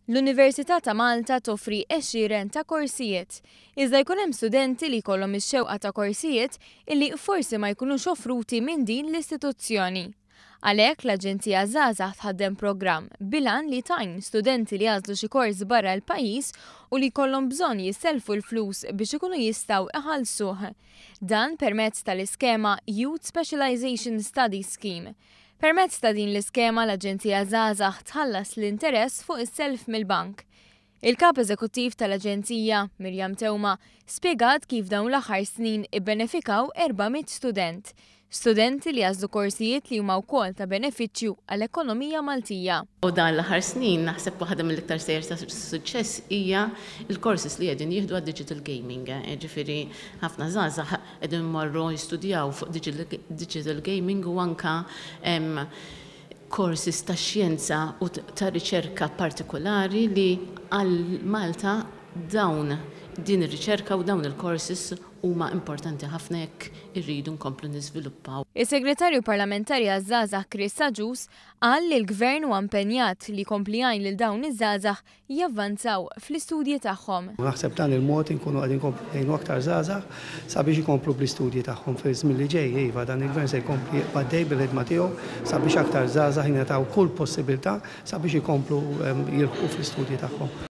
L-Università ta' Malta toffri għexieren ta' korsijiet. Iżda jkun hemm studenti li jkollhom ix-xewqa ta' korsijiet illi forsi ma jkunux offruti minn din l-istituzzjoni. Għalhekk l-Aġenzija Żgħażagħ tħaddem programm bil-għan li tgħin studenti li għażlu xi kors barra l-pajjiż u li jkollhom bżonn jissellfu l-flus biex ikunu jistgħu iħallsuh. Dan permezz tal-iskema Youth Specialisation Study Scheme. Permezz ta' din l-iskema l-Aġenzija Żgħażagħ tħallas l-interess fuq is-self mill-bank. Il-Kap Eżekuttiv tal-Aġenzija, Miriam Teuma, spjegat kif dawn l-aħħar snin ibbenefikaw 400 student. Studenti li għażlu korsijiet li huma wkoll ta' benefiċċju għall-ekonomija Maltija. U dan l-aħħar snin naħseb waħda mill-iktar stejjer ta' suċċess hija l-courses li qegħdin jieħdu għad-digital gaming. Ġifieri ħafna żgħażagħ qegħdin imorru jistudjaw fuq digital gaming u anke courses ta' xjenza u ta' riċerka partikolari li għal Malta dawn din ir-riċerka u dawn il-courses huma importanti ħafna jekk irridu nkomplu niżviluppaw. Is-Segretarju Parlamentari għaż-Żgħażagħ Chris Agius qal li l-Gvern huwa impenjat li jkompli jgħin lil dawn iż-żgħażagħ javvanzaw fl-istudji tagħhom. Naħseb b'dan il-mod inkunu qegħdin inkomplu ngħinu aktar żgħażagħ sabiex ikomplu bl-istudji tagħhom fiż-żmien li ġej. Iva, dan il-Gvern se jkompli jibqa' għaddej bil-ħidma tiegħu sabiex aktar żgħażagħ jingħataw kull possibilità sabiex ikomplu jilħqu fl-istudji tagħhom.